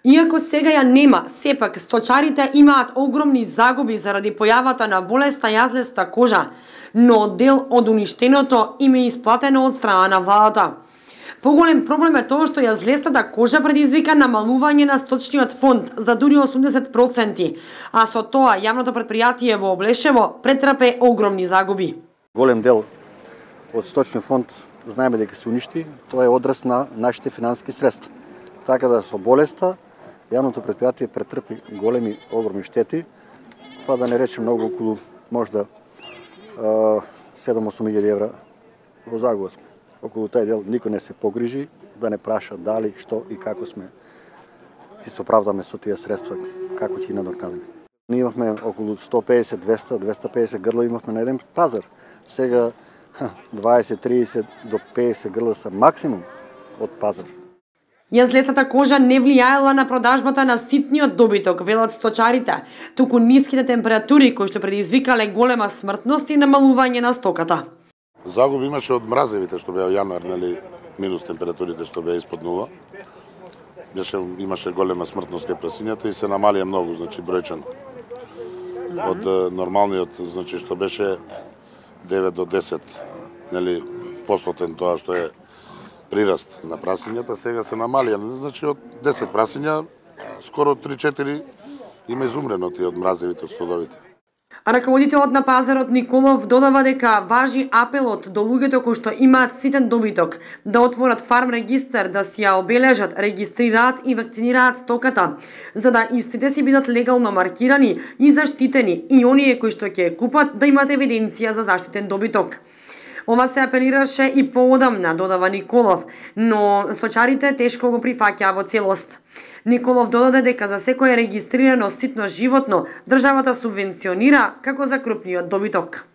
Иако сега ја нема, сепак сточарите имаат огромни загуби заради појавата на болеста јазлеста кожа, но дел од уништеното им е исплатено од страна на владата. Поголем проблем е тоа што јазлестата кожа предизвика намалување на сточниот фонд за дури 80%, а со тоа јавното претпријатие во Облешево претрпе огромни загуби. Голем дел од сточниот фонд знаеме дека се уништи, тоа е одраз на нашите финансиски средства. Така да со болеста јавното претпријатие претрпи големи, огромни штети, па да не речем многу, околу можда 7-8 евра во загуба сме. Околу тај дел никој не се погрижи, да не праша дали, што и како сме си се оправдаме со тие средства, како ќе ги надокнадиме. Ние имавме околу 150, 200, 250 грла имавме на еден пазар. Сега 20, 30 до 50 грла са максимум од пазар. Јазлестата кожа не влијаела на продажбата на ситниот добиток, велат сточарите, туку ниските температури кои што предизвикале голема смртност и намалување на стоката. Загуби имаше од мразевите што беа јануар, нели, минус температурите што беа испод нула. Имаше голема смртност кај прасињата и се намалија многу, значи бројчано. Од нормалниот, значи што беше 9 до 10, нели, постотен тоа што е прираст на прасињата, сега се намалија, значи од 10 прасиња скоро 3-4 има изумрено тие од мразевите, од стодовите. Раководителот на пазарот Николов додава дека важи апелот до луѓето кои што имаат ситен добиток да отворат фарм регистар, да си ја обележат, регистрираат и вакцинираат стоката, за да истите си бидат легално маркирани и заштитени и оние кои што ќе купат да имат евиденција за заштитен добиток. Ова се апелираше и поодамна, додава Николов, но сточарите тешко го прифаќаа во целост. Николов додаде дека за секое регистрирано ситно животно државата субвенционира како за крупниот добиток.